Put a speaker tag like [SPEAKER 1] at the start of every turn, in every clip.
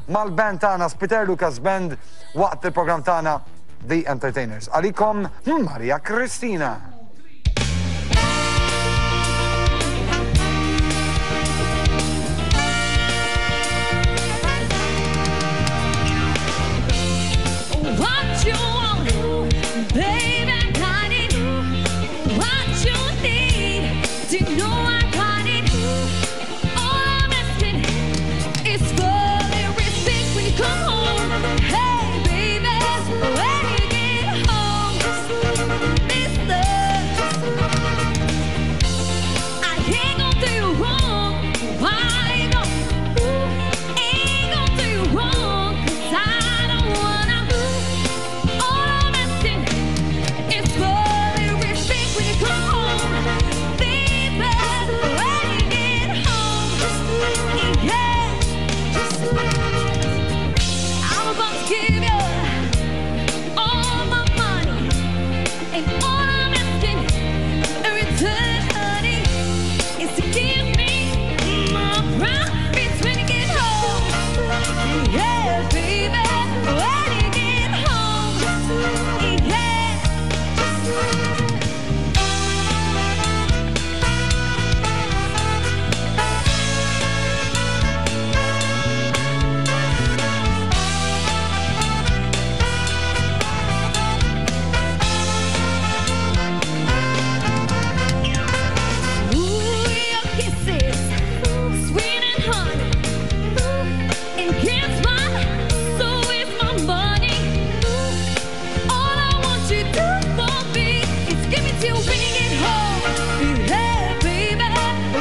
[SPEAKER 1] mal-band tagħna Spiter Lucas Band waqt il-programm tagħna The Entertainers. Għalikom Maria Kristina.
[SPEAKER 2] What you want, babe, I got it. What you need, do you know I got it? All I'm asking is for a little respect when you come home. Hey, baby, when you get home, mister, I ain't gonna do you wrong. I ain't gonna, ain't gonna do you wrong, 'cause I don't wanna. All I'm asking is for a little respect when you come home, baby. When you get home, yeah. I'm about to give you all my money, and all I'm asking in return, honey, is to give me my promise when you get home. Yeah, baby, when you get home, yeah. Ooh, your kisses, sweet and honey. And guess what? So is my money. All I want you to do for me is give it to you when you get home. Yeah, baby,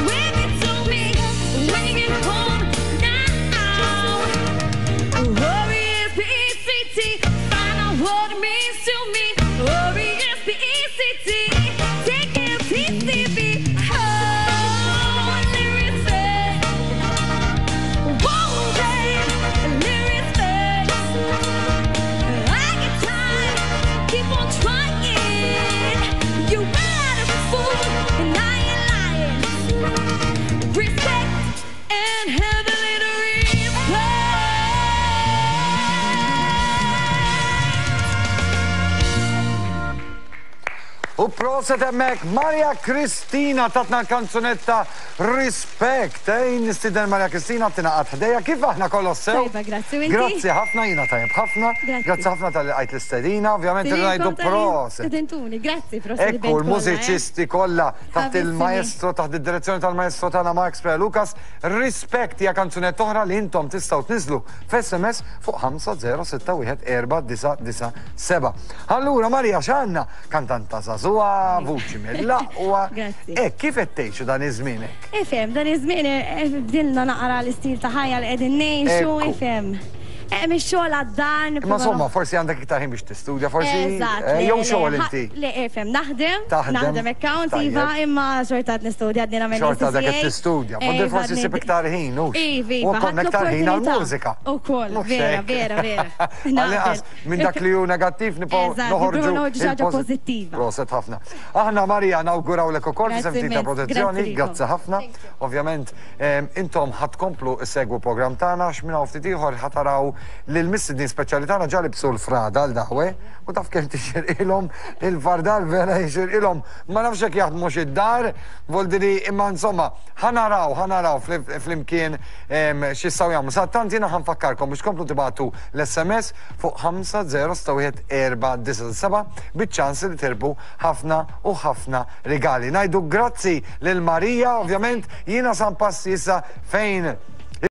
[SPEAKER 2] give it to me when you get home now. R-E-S-P-E-C-T, find out what it means to me. R-E-S-P-E-C-T, take it, T-C-B. Oh, respect. Whoa, babe, respect. I get tired, keep on trying. You better be fool, and I ain't lying. Respect and have a little respect.
[SPEAKER 1] U proset hemmhekk Maria Kristina tatna l-kanzunetta Respect. Ej, nistieden Maria Kristina tingħaqad ħdejja. Kif aħna kollox sew?
[SPEAKER 2] Tajba, grazzi. U inti?
[SPEAKER 1] Grazzi ħafna, jiena tajjeb ħafna.
[SPEAKER 2] Grazzi.
[SPEAKER 1] Grazzi ħafna talli lqajt l-istedina. Ovvjament irridu ngħidu proset.
[SPEAKER 2] Stedintuni, grazzi, proset.
[SPEAKER 1] Ekku, l-mużiċisti kollha taħt
[SPEAKER 2] Ħabissimi.
[SPEAKER 1] il-maestro, taħt id-direzzjoni tal-maestro tagħna Mark Spre Lucas, Respect hija kanzunetta oħra li intom tistgħu tniżlu f'SMS fuq 5061497. Allura Maria x'għandna? Kantanta żagħżugħa, vuċi mill-aqwa.
[SPEAKER 2] Grazzi.
[SPEAKER 1] E kif qed tgħixu dan iż-żmien hekk?
[SPEAKER 2] Ifhem, dan iż-żmien bdilna naqra l-istil ta' ħajja li qegħdin ngħixu,
[SPEAKER 1] Ekku.
[SPEAKER 2] ifhem. Mix-xogħol għad-dar.
[SPEAKER 1] Imma insomma, forsi għandek iktar ħin biex tistudja, forsi
[SPEAKER 2] Eżatt.
[SPEAKER 1] jew
[SPEAKER 2] le,
[SPEAKER 1] xogħol
[SPEAKER 2] le,
[SPEAKER 1] inti.
[SPEAKER 2] Le, ifhem, naħdem,
[SPEAKER 1] Taħdem.
[SPEAKER 2] naħdem account,
[SPEAKER 1] Tajjeb.
[SPEAKER 2] iva, imma xorta qed nistudja għadni nagħmel
[SPEAKER 1] Xorta dak qed
[SPEAKER 2] ACCA.
[SPEAKER 1] tistudja. Foddi
[SPEAKER 2] Iva,
[SPEAKER 1] forsi
[SPEAKER 2] għadni-
[SPEAKER 1] ssib iktar ħin, hux?
[SPEAKER 2] Iva,
[SPEAKER 1] U
[SPEAKER 2] iva,
[SPEAKER 1] konna
[SPEAKER 2] ħadt
[SPEAKER 1] iktar ħin
[SPEAKER 2] l-opportunità.
[SPEAKER 1] għall-mużika.
[SPEAKER 2] Ukoll,
[SPEAKER 1] Mhux
[SPEAKER 2] vera,
[SPEAKER 1] hekk.
[SPEAKER 2] vera, vera.
[SPEAKER 1] Għall-inqas minn dak li hu negattiv nibqgħu
[SPEAKER 2] Eżatt,
[SPEAKER 1] noħorġu
[SPEAKER 2] nipprovaw noħorġu xi ħaġa
[SPEAKER 1] il-pożi-
[SPEAKER 2] pożittiva.
[SPEAKER 1] Proset ħafna. Aħna Marija nawgurawlek ukoll
[SPEAKER 2] Grazzi
[SPEAKER 1] f'isem tim ta'
[SPEAKER 2] immens,
[SPEAKER 1] protezzjoni,
[SPEAKER 2] grazzi lilkom.
[SPEAKER 1] grazzi ħafna. Ovvjament, intom ħa tkomplu ssegwu l-programm tagħna għax minn hawn ftit ieħor ħa taraw lil mistednin speċjali tagħna ġa libsu l-frada l-daħwe u taf kemm tixirqilhom il-fardal vera jixirqilhom. Ma nafx hekk jaħdmux id-dar, voldiri imma insomma ħa naraw, ħa naraw flimkien x'jistgħu jagħmlu. Sadanittant jiena ħa nfakkarkom biex tkomplu tibagħtu l-SMS fuq 5061497 biċ-ċans li tirbu ħafna u ħafna rigali. Ngħidu grazzi lil Marija, ovvjament jiena san passi issa fejn